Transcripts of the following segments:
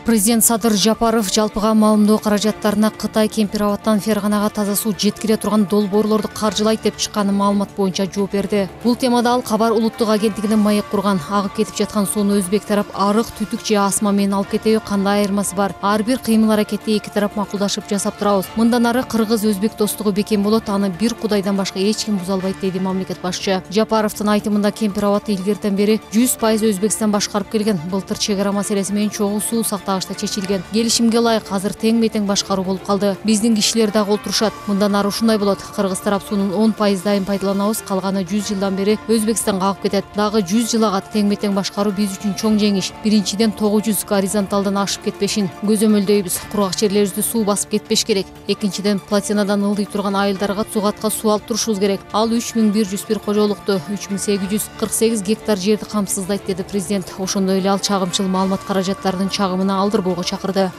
Президент Садыр Жапаров жалпыга маалымдоо каражаттарына Кытай Кемпир-Абадтан Ферганага таза суу жеткире турган долбоорлорду каржылайт деп чыккан маалымат боюнча жооп берди. Бул темада ал Кабар улуттук агенттигине маек курган. Агып кетип жаткан сууну Өзбек тарап арык, түтүк же асма менен алып кетеби, кандай айырмасы бар? Ар бир кыймыл-аракетти эки тарап макулдашып жасап турабыз. Мындан ары кыргыз-өзбек достугу бекем болот, аны бир Кудайдан башка эч ким буза албайт, деди мамлекет башчы. Жапаровдун айтымында Кемпир-Абадты илгертен бери 100% Өзбекстан башкарып келген. Былтыр чек ара маселеси менен чогуу суу сактагычта чечилген. Келишимге ылайык азыр тең-метең башкаруу болуп калды. Биздин кишилер дагы олтурушат. Мындан ары ушундай болот. Кыргыз тарап суунун 10% дайым пайдаланабыз, калганы 100 жылдан бери Өзбекстанга агып кетет. Дагы 100 жыл агат. Тең-метең башкаруу биз үчүн чоң жеңиш. Биринчиден 900 горизонталдан ашып кетпешин көзөмөлдөйбүз. Кургак жерлерибизди суу басып кетпеш керек. Экинчиден плотинадан ылдый турган айылдарга сугатка суу алып турушубуз керек. Ал 3101 кожолукту 3848 гектар жерди камсыздайт, деди президент. Ошондой эле ал чагымчыл маалымат каражаттарынын чагымына алдырбоого чакырды.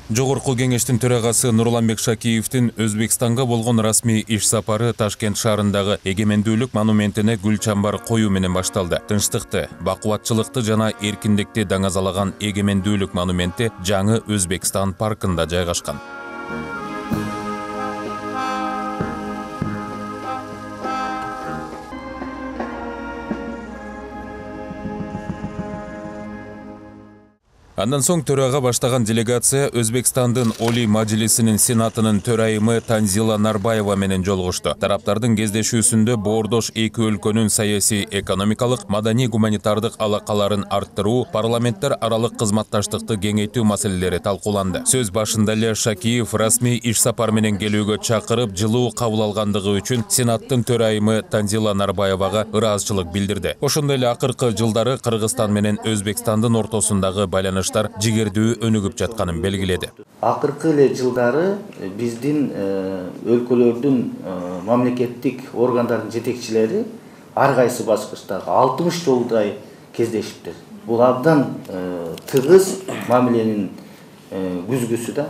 Жогорку кеңештин төрагасы Нурланбек Шакиевдин Өзбекстанга болгон расмий иш сапары Ташкент шаарындагы Эгемендүүлүк монументине гүл чамбар коюу менен башталды. Тынчтыкты, бакубатчылыкты жана эркиндикти даңазалаган Эгемендүүлүк монументи жаңы Өзбекстан паркында жайгашкан. Андан соң төрага баштаган делегация Өзбекстандын Олий Мажлисинин Сенатынын төрайымы Танзила Нарбаева менен жолугушту. Тараптардын кездешүүсүндө боордош эки өлкөнүн саясий, экономикалык, маданий, гуманитардык алакаларын арттыруу, парламенттер аралык кызматташтыкты кеңейтүү маселелери талкууланды. Сөз башында эле Шакиев расмий иш сапар менен келүүгө чакырып, жылуу кабыл алгандыгы үчүн Сенаттын төрайымы Танзила Нарбаевага ыраазычылык билдирди. Ошондой эле акыркы жылдары Кыргызстан менен Өзбекстандын ортосундагы байланыш жигердүү өнүгүп жатканын белгиледи. Акыркы эле жылдары биздин өлкөлөрдүн мамлекеттик органдардын жетекчилери ар кайсы баскычтагы 60 жолдай кездешиптир. Бул абдан тыгыз мамиленин күзгүсү да.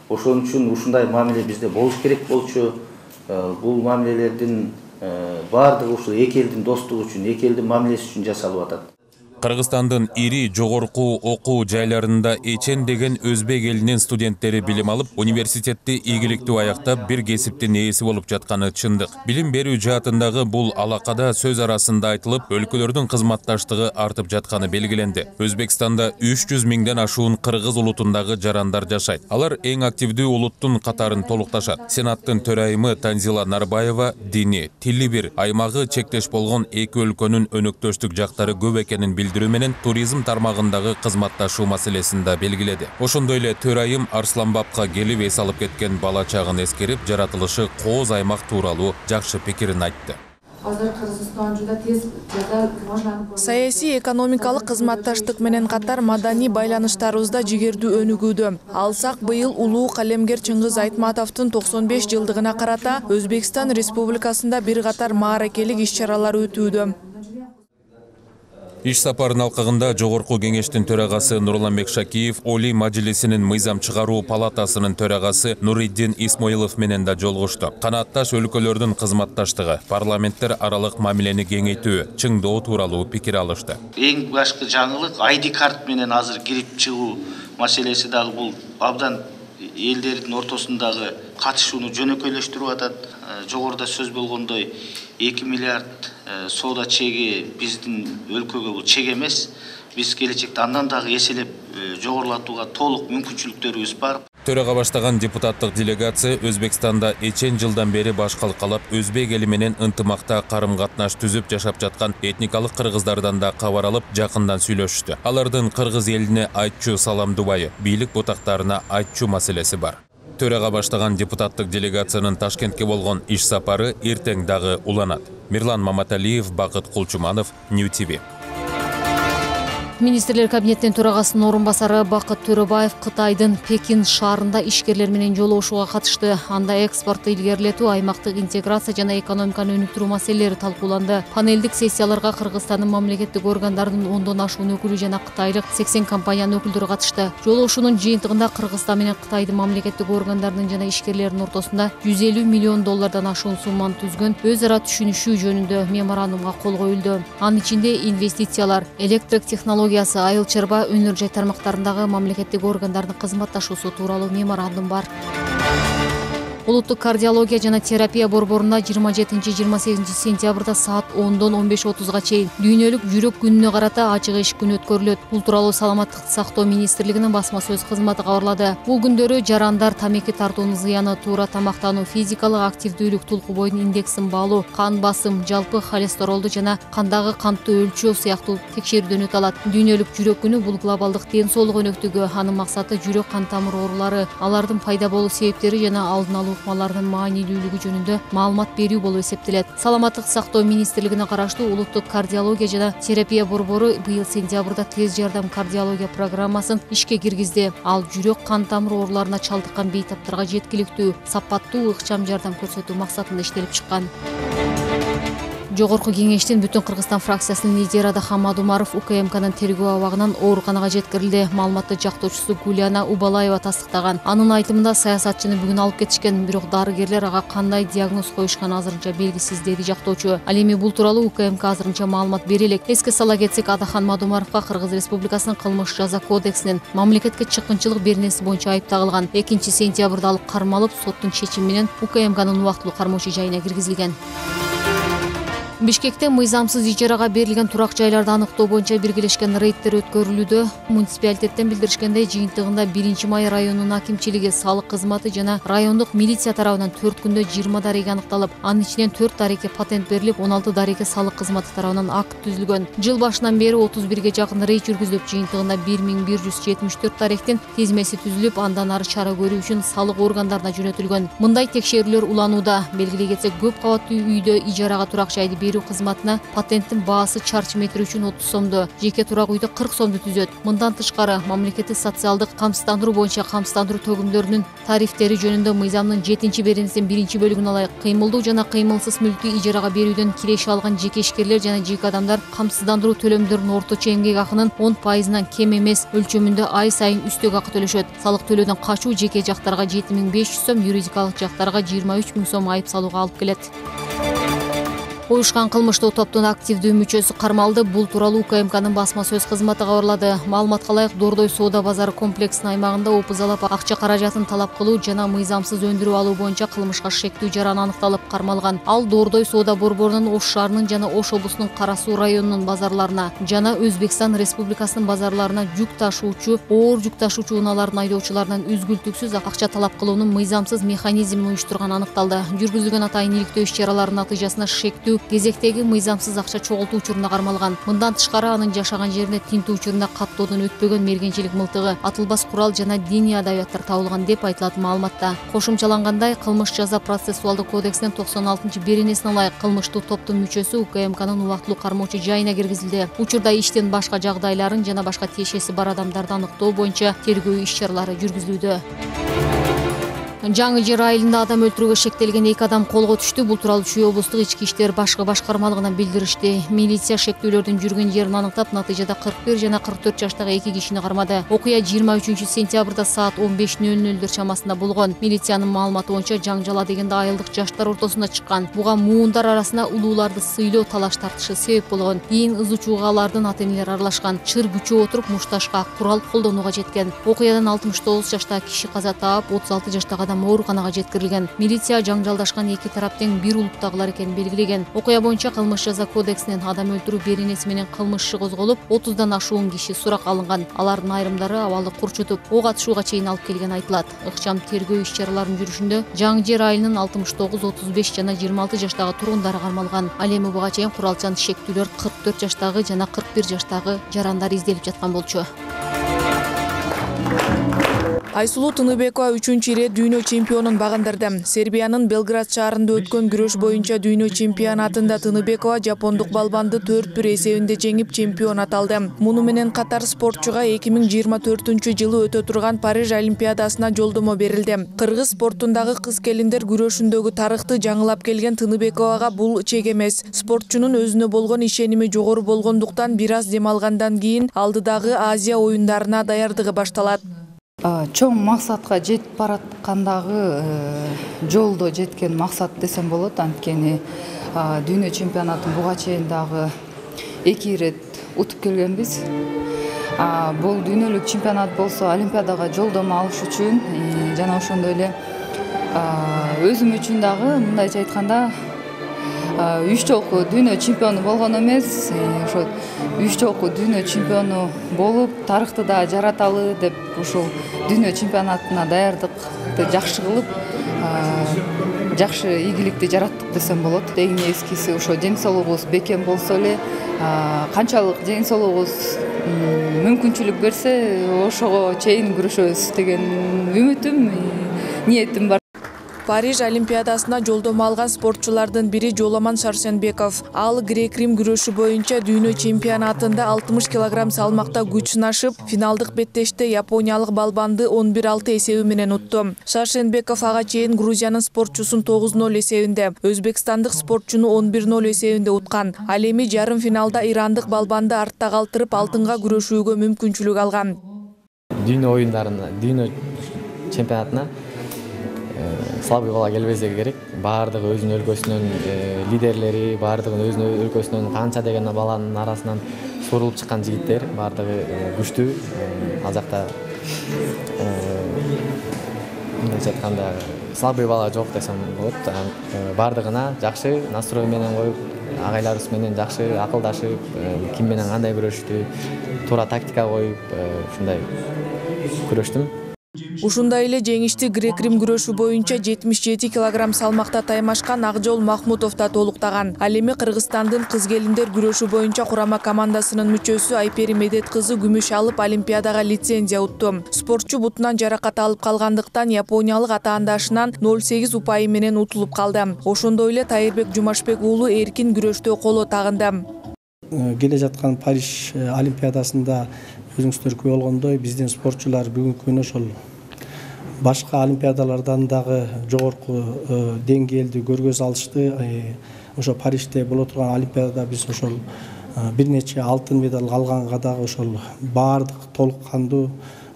Ошон үчүн ушундай мамиле бизде болуш керек болчу. Бул мамилелердин баардыгы ушул эки элдин достугу үчүн, эки элдин мамилеси үчүн жасалып атат. Кыргызстандын ири жогорку окуу жайларында эчен деген өзбек элинин студенттери билим алып, университетти ийгиликтүү аяктап, бир кесиптин ээси болуп жатканы чындык. Билим берүү жаатындагы бул алакада сөз арасында айтылып, өлкөлөрдүн кызматташтыгы артып жатканы белгиленди. Өзбекстанда 300 миңден ашуун кыргыз улутундагы жарандар жашайт. Алар эң активдүү улуттун катарын толукташат. Сенаттын төрайымы Танзила Нарбаева дини, тили бир, аймагы чектеш болгон эки өлкөнүн өнөктөштүк жактары көп экенин билдирүү менен туризм тармагындагы кызматташуу маселесин да белгиледи. Ошондой эле төрайым Арсланбапка келип эс алып кеткен бала чагын эскерип, жаратылышы кооз аймак тууралуу жакшы пикирин айтты. Саясий, экономикалык кызматташтык менен катар маданий байланыштарыбыз да жигердүү өнүгүүдө. Алсак быйыл улуу калемгер Чыңгыз Айтматовдун 95 жылдыгына карата Өзбекстан Республикасында бир катар мааракелик иш-чаралар өтүүдө. Иш сапарын алкагында Жогорку кеңештин төрагасы Нурланбек Шакиев, Олий Мажлисинин мыйзам чыгаруу палатасынын төрагасы Нуриддин Исмоилов менен да жолугушту. Канаатташ өлкөлөрдүн кызматташтыгы, парламенттер аралык мамилени кеңейтүү, чыңдоо тууралуу пикир алышты. Эң башкы жаңылык ID карт менен азыр кирип чыгуу маселеси дагы бул абдан элдердин ортосундагы катышууну жөнөкөйлөштүрүп атат. Жогоруда сөз болгондой 2 миллиард соода чеги биздин өлкөгө бул чек эмес. Биз келечекте андан дагы эселеп жогорулатууга толук мүмкүнчүлүктөрүбүз бар. Төрага баштаган депутаттык делегация Өзбекстанда эчен жылдан бери баш калкалап, өзбек эли менен ынтымакта карым-катнаш түзүп жашап жаткан этникалык кыргыздардан да кабар алып, жакындан сүйлөшүштү. Алардын кыргыз элине айтчу саламдубайы, бийлик бутактарына айтчу маселеси бар. Төрага баштаган депутаттык делегациянын Ташкентке болгон иш сапары эртең дагы уланат. Мирлан Маматалиев, Бакыт Кулчуманов, New TV. Министрлер кабинетинин төрагасынын орун басары Бакыт Төрөбаев Кытайдын Пекин шаарында ишкерлер менен жолугушууга катышты. Анда экспортты илгерилетүү, аймактык интеграция жана экономиканы өнүктүрүү маселелери талкууланды. Панелдик сессияларга Кыргызстандын мамлекеттик органдарынын 10дон ашуун өкүлү жана кытайлык 80 компаниянын өкүлдөрү катышты. Жолугушуунун жыйынтыгында Кыргызстан менен Кытайдын мамлекеттик органдарынын жана ишкерлердин ортосунда $150 миллион ашуун сумманы түзгөн өз ара түшүнүшүү жөнүндө меморандумга кол коюлду. Анын ичинде инвестициялар, электрик технологиясы, айыл чарба, өнөр жай тармактарындагы мамлекеттик органдардын кызматташуусу тууралуу меморандум бар. Улуттук кардиология жана терапия борборунда 27-28 сентябрда саат 10дон 15:30 чейин дүйнөлүк жүрөк күнүнө карата ачык эшик күнү өткөрүлөт. Бул тууралуу Саламаттыкты сактоо министрлигинин басма сөз кызматы кабарлады. Бул күндөрү жарандар, тамеки тартуунун зыяны, туура тамактануу, физикалык активдүүлүк, толку бойдун индексин баалоо, кан басым, жалпы холестеролду жана кандагы кантты өлчөө сыяктуу текшерүүдөн өтө алат. Дүйнөлүк жүрөк күнү бул глобалдык ден соолук өнөктүгү. Анын максаты жүрөк кан тамыр оорулары, алардын пайда болуу себептери жана алдын алуу ыкмалардын маанилүүлүгү жөнүндө маалымат берүү болуп эсептелет. Саламаттыкты сактоо министрлигине караштуу улуттук кардиология жана терапия борбору быйыл сентябрда тез жардам кардиология программасын ишке киргизди. Ал жүрөк кан тамыр ооруларына чалдыккан бейтаптарга жеткиликтүү, сапаттуу ыкчам жардам көрсөтүү максатында иштелип чыккан. Жогорку кеңештин Бүтүн Кыргызстан фракциясынын лидери Адахан Мадумаров УКМКнын тергөө абагынан ооруканага жеткирилди. Маалыматты жактоочусу Гуляна Убалаева тастыктаган. Анын айтымында саясатчыны бүгүн алып кетишкен, бирок дарыгерлер ага кандай диагноз коюшканы азырынча белгисиз, деди жактоочу. Ал эми бул тууралуу УКМК азырынча маалымат бере элек. Эске сала кетсек, Адахан Мадумаровго Кыргыз Республикасынын кылмыш жаза кодексинин мамлекетке чыккынчылык беренеси боюнча айып тагылган. 2-сентябрда алып кармалып, соттун чечими менен УКМКнын убактылуу кармоочу жайына киргизилген. Бишкекте мыйзамсыз ижарага берилген турак жайларды аныктоо боюнча биргелешкен рейдтер өткөрүлүүдө. Муниципалитеттен билдиришкендей, жыйынтыгында 1-Май районунун акимчилиги, салык кызматы жана райондук милиция тарабынан 4 күндө 20 дареге аныкталып, анын ичинен 4 дареге патент берилип, 16 дареге салык кызматы тарабынан акт түзүлгөн. Жыл башынан бери 31ге жакын рейд жүргүзүлүп, жыйынтыгында 1174 даректин тизмеси түзүлүп, андан ары чара көрүү үчүн салык органдарына жөнөтүлгөн. Мындай текшерүүлөр уланууда. Белгилей кетсек, көп кабаттуу үйдө ижарага турак жайды берүү кызматына патенттин баасы чарчы метр үчүн 30 сомду, жеке турак үйдө 40 сомду түзөт. Мындан тышкары, мамлекеттик социалдык камсыздандыруу боюнча камсыздандыруу төгүмдөрүнүн тарифтери жөнүндө мыйзамдын 7-беренесинин 1-бөлүгүнө ылайык кыймылдуу жана кыймылсыз мүлктү ижарага берүүдөн киреши алган жеке ишкерлер жана жеке адамдар камсыздандыруу төлөмдөрүнүн орточо эмгек акынын 10%-нан кем эмес өлчөмүндө ай сайын үстөк акы төлөшөт. Салык төлөөдөн качуу жеке жактарга 7500 сом, юридикалык жактарга 23 000 сом айып салууга алып келет. Уюшкан кылмыштуу топтун активдүү мүчөсү кармалды. Бул тууралуу УКМКнын басма сөз кызматы кабарлады. Маалыматка ылайык, Дордой соода базары комплексинин аймагында опузалап акча каражатын талап кылуу жана мыйзамсыз өндүрүп алуу боюнча кылмышка шектүү жаран аныкталып кармалган. Ал Дордой соода борборунун Ош шаарынын жана Ош облусунун Кара Суу районунун базарларына жана Өзбекстан Республикасынын базарларына жүк ташуучу, оор жүк ташуучу унаалардын айдоочуларынан үзгүлтүксүз акча талап кылуунун мыйзамсыз механизмин уюштурган аныкталды. Жүргүзүлгөн атайын иликтөө иш чараларынын натыйжасында шектүү кезектеги мыйзамсыз акча чогултуу учурунда кармалган. Мындан тышкары, анын жашаган жеринде тинтүү учурунда каттоодон өтпөгөн мергенчилик мылтыгы, атылбас курал жана диний адабияттар табылган деп айтылат маалыматта. Кошумчалангандай, кылмыш жаза процессуалдык кодексинин 96-беренесине ылайык кылмыштуу топтун мүчөсү УКМКнын убактылуу кармоочу жайына киргизилди. Учурда иштин башка жагдайларын жана башка тиешеси бар адамдарды аныктоо боюнча тергөө иш чаралары жүргүзүлүүдө. Жаңы Жер айылында адам өлтүрүүгө шектелген 2 адам колго түштү. Бул тууралуу Чүй облустук ички иштер башкы башкармалыгынан билдиришти. Милиция шектүүлөрдүн жүргөн жерин аныктап, натыйжада 41 жана 44 жаштагы 2 кишини кармады. Окуя 23-сентябрда саат 15:00 чамасында болгон. Милициянын маалыматы боюнча, жаңжала дегенде айылдык жаштар ортосунда чыккан. Буга муундар арасында улууларды сыйлоо, талаш тартышы себеп болгон. Кийин ызы-чууга алардын ата-энелери аралашкан. Чыр күчөө отуруп мушташка курал колдонууга жеткен. Окуядан 69 жаштагы киши каза таап, 36 жаштагы ооруканага жеткирилген. Милиция жаңжалдашкан 2 тараптын бир улуттагылар экенин белгилеген. Окуя боюнча кылмыш жаза кодексинин адам өлтүрүү беренеси менен кылмыш иши козголуп, 30дан ашуун киши сурак алынган. Алардын айрымдары абалды курчутуп, ок атышууга чейин алып келген айтылат. Ыкчам тергөө иш чараларынын жүрүшүндө Жаңы Жер айылынын 69, 35 жана 26 жаштагы тургундары кармалган. Ал эми буга чейин куралчан шектүүлөр 44 жаштагы жана 41 жаштагы жарандар изделип жаткан болчу. Айсулуу Тыныбекова 3-чү ирет дүйнө чемпионун багындырды. Сербиянын Белград шаарында өткөн күрөш боюнча дүйнө чемпионатында Тыныбекова жапондук балбанды 4-1 эсебинде жеңип чемпион аталды. Муну менен катар спортчуга 2024-жылы өтө турган Париж Олимпиадасына жолдомо берилди. Кыргыз спортундагы кыз-келиндер күрөшүндөгү тарыхты жаңылап келген Тыныбековага бул чек эмес. Спортчунун өзүнө болгон ишеними жогору болгондуктан бир аз дем алгандан кийин алдыдагы Азия оюндарына даярдыгы башталат. Чоң максатка жетип бараткандагы жолдо жеткен максат десем болот. Анткени дүйнө чемпионатын буга чейин дагы 2 ирет утуп келгенбиз. Бул дүйнөлүк чемпионат болсо Олимпиадага жолдомо алыш үчүн жана ошондой эле өзүм үчүн дагы мындайча айтканда 3 жолку дүйнө чемпиону болгон эмес, ошо 3 жолку дүйнө чемпиону болуп, тарыхты да жараталы деп ушул дүйнө чемпионатына даярдыкты жакшы кылып, жакшы ийгиликти жараттык десем болот. Эң эскиси ошо ден соолугубуз бекем болсо эле, канчалык ден соолугубуз мүмкүнчүлүк берсе, ошого чейин күрөшөбүз деген үмүтүм, ниетим бар. Париж Олимпиадасына жолдомо алган спортчулардын бири Жоламан Шарсенбеков. Ал грек-рим күрөшү боюнча дүйнө чемпионатында 60 кг салмакта күч сынашып, финалдык беттеште япониялык балбанды 11-6 эсеби менен утту. Шарсенбеков ага чейин Грузиянын спортчусун 9-0 эсебинде, өзбекстандык спортчуну 11-0 эсебинде уткан. Ал эми жарым финалда ирандык балбанды артта калтырып алтынга күрөшүүгө мүмкүнчүлүк алган. Дүйнө оюндарына, дүйнө чемпионатына слабый бала келбезе керек. Баардыгы өзүнүн өлкөсүнүн лидерлери, баардыгы өзүнүн өлкөсүнүн канча деген баланын арасынан сурулуп чыккан жигиттер, баардыгы күчтүү. Ал жакта мындайча айтканда слабый бала жок десем болот. Баардыгына жакшы настрой менен коюп, агайларыбыз менен жакшы акылдашып, ким менен кандай күрөштү, туура тактика коюп, ушундай күрөштүм. Ушундай эле жеңишти грек-рим күрөшү боюнча 77 кг салмакта таймашкан Акжол Махмутов да толуктаган. Ал эми Кыргызстандын кыз-келиндер күрөшү боюнча курама командасынын мүчөсү Айпери Медет кызы күмүш алып Олимпиадага лицензия утту. Спортчу бутунан жаракат алып калгандыктан япониялык атаандашынан 0,8 упайы менен утулуп калды. Ошондой эле Тайырбек Жумашбек уулу эркин күрөштө коло тагынды. Келе жаткан Париж Олимпиадасында өзүңүздөр күбө болгондой, биздин спортчулар бүгүнкү күнү ошол башка олимпиадалардан дагы жогорку деңгээлди көргөзө алышты. Ошо Парижде боло турган олимпиадада биз ошол бир нече алтын медаль алганга дагы ошол баардык толук кандуу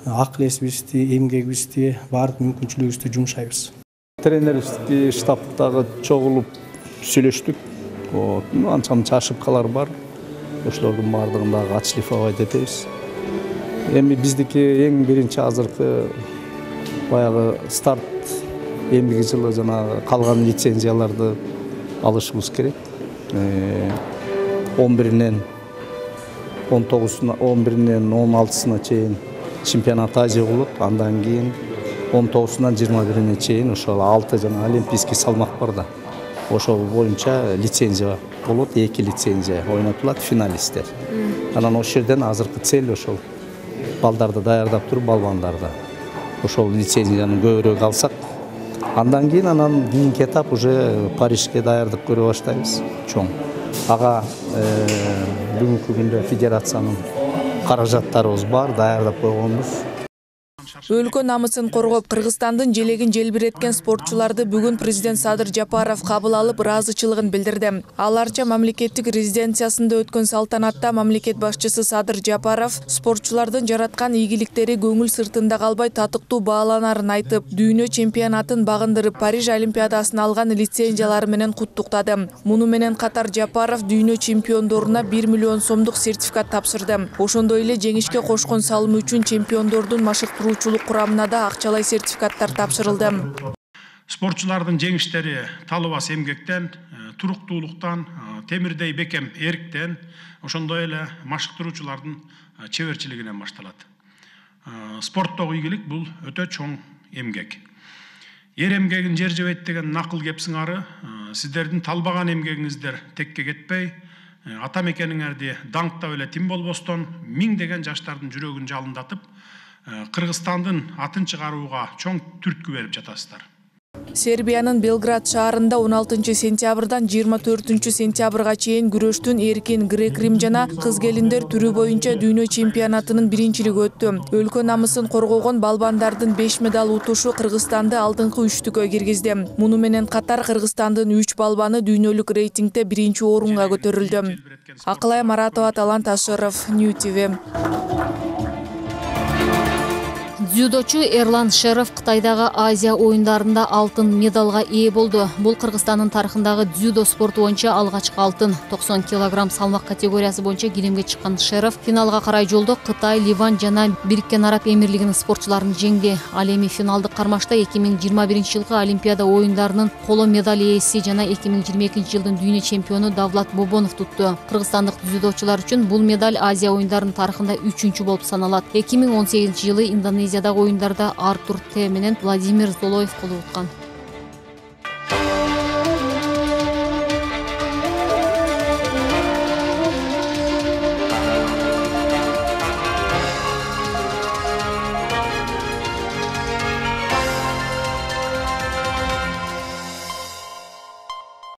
акыл эсибизди, эмгегибизди, баардык мүмкүнчүлүгүбүздү жумшайбыз. Тренерибиздин штабтагы чогулуп сүйлөштүк. Анча-мынча ошибкалар бар. Ошолордун баардыгын дагы отшлифовать этебиз. Эми биздики эң биринчи азыркы баягы старт эмдиги жылы жанагы калган лицензияларды алышыбыз керек. 11-нен 19-уна, 11-нен 16-сына чейин чемпионат Азия болот. Андан кийин 19-унан 21-ине чейин ошол 6 жана олимпийский салмак бар да. Ошол боюнча лицензия болот, 2 лицензия ойнотулат финалисттер. Анан ошол жерден азыркы цель ошол балдарды даярдап туруп балбандарды. Ошол лицензияны көбүрөөк алсак, андан кийин анан кийинки этап уже Парижге даярдык көрө баштайбыз. Чоң. Ага бүгүнкү күндө федерациянын каражаттарыбыз бар, даярдап койгонбуз. Өлкө намысын коргоп, Кыргызстандын желегин желбиреткен спортчуларды бүгүн президент Садыр Жапаров кабыл алып, ыраазычылыгын билдирди. Ал Арча мамлекеттик резиденциясында өткөн салтанатта мамлекет башчысы Садыр Жапаров спортчулардын жараткан ийгиликтери көңүл сыртында калбай татыктуу бааланарын айтып, дүйнө чемпионатын багындырып, Париж Олимпиадасын алган лицензиялары менен куттуктады. Муну менен катар Жапаров дүйнө чемпиондоруна 1 миллион сомдук сертификат тапшырды. Ошондой эле жеңишке кошкон салымы үчүн чемпиондордун машыктыруучулук курамына да акчалай сертификаттар тапшырылды. Спортчулардын жеңиштери талыбас эмгектен, туруктуулуктан, темирдей бекем эриктен, ошондой эле машыктыруучулардын чеберчилигинен башталат. Спорттогу ийгилик бул өтө чоң эмгек. Эр эмгегин жер жебейт деген накыл кеп сыңары, сиздердин талбаган эмгегиңиздер текке кетпей, ата мекениңерди даңктап эле тим болбостон, миңдеген жаштардын жүрөгүн жалындатып, Кыргызстандын атын чыгарууга чоң түрткү берип жатасыздар. Сербиянын Белград шаарында 16 сентябрдан 24 сентябрга чейин күрөштүн эркин грек-рим жана кыз-келиндер түрү боюнча дүйнө чемпионатынын биринчилиги өттү. Өлкө намысын коргогон балбандардын 5 медаль утушу Кыргызстанды алдыңкы үчтүккө киргизди. Муну менен катар Кыргызстандын 3 балбаны дүйнөлүк рейтингде биринчи орунга көтөрүлдү. Акылай Маратова, Талант Ашыров, New TV. Дзюдочу Эрлан Шеров Кытайдагы Азия оюндарында алтын медалга ээ болду. Бул Кыргызстандын тарыхындагы дзюдо спорту боюнча алгачкы алтын. 90 кг салмак категориясы боюнча килемге чыккан Шеров финалга карай жолдо Кытай, Ливан жана Бириккен Араб Эмирлигинин спортчуларын жеңди. Ал эми финалдык кармашта 2021-жылкы Олимпиада оюндарынын коло медаль ээси жана 2022-жылдын дүйнө чемпиону Давлат Бобонов тутту. Кыргызстандык дзюдочулар үчүн бул медаль Азия оюндарынын тарыхында 3-чү болуп саналат. 2018-жылы Индонезиядагы оюндарда Артур Т менен Владимир Золоев коло уткан.